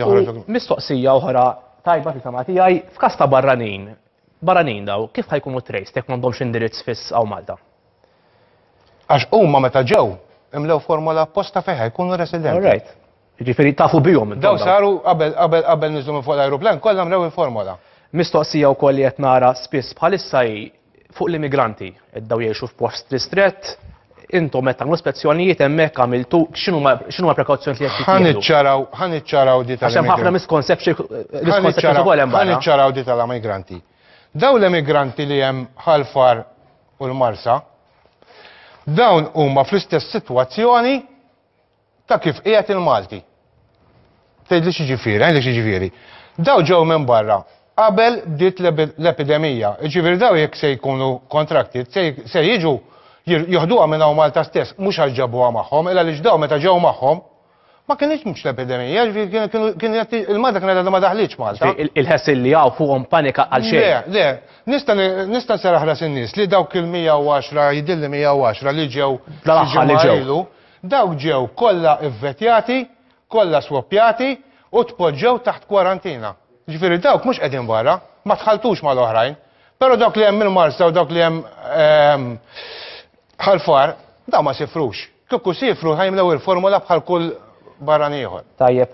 Joħroġ. Mistoqsija oħra tajba fil-fehma tiegħi, f'każ ta' barranin, barranin daw, kif ħa jkunu traced jekk m'għandhomx indirizz fiss hawn Malta? Għax huma meta ġew imlew formola apposta fejn ħa jkunu residenti. All right. Jiġifieri tafu bihom intom. Daw saru qabel qabel qabel niżlu minn fuq l-ajruplan kollha mlew il-formola. Mistoqsija wkoll li qed nara spiss bħalissa hi fuq l-immigranti. Qed daw jgħixu f'post ristrett, intom qed tagħmlu spezzjonijiet hemmhekk għamiltu x'inhuma x'inhuma prekawzjonijiet li qed Ħa jittieħdu? niċċaraw ħa niċċaraw di Għax hemm ħafna tal-immigranti. misconception Ħa misconceptions niċċaraw ukoll hemm ħa barra. niċċaraw di tal-immigranti. Daw l-immigranti li hemm Ħal Far u l-Marsa, dawn huma fl-istess sitwazzjoni ta' kif qiegħed il-Malti. Tgħidli x'jiġifieri, għidli x'jiġifieri. Daw ġew minn barra qabel bdiet l-epidemija. Jiġifieri daw jekk se jkunu contracted, se jiġu joħduha minn hawn Malta stess, mhux għax ġabuha magħhom, illa għaliex daw meta ġew magħhom ma kienx mhux l-epidemija, jiġifieri kienu il-Malta kienet għadha ma daħlitx Malta. Il-ħessil li hawn fuqhom panika għal xejn. Le, le, nista' nista' nserraħ ras in-nies li dawk il-110 jidhirli 110 li ġew Dal-aħħar li ġew. Dawk ġew kollha vvetjati, kollha swappjati u tpoġġew taħt kwarantina. Jiġifieri dawk mhux qegħdin barra, ma tħalltux mal-oħrajn. Però dawk li hemm il-Marsa u dawk li hemm Ħal Far, dawn ma sifrux. Kieku siefru ħa jimlew il-formula bħal kull barrani ieħor. Tajjeb.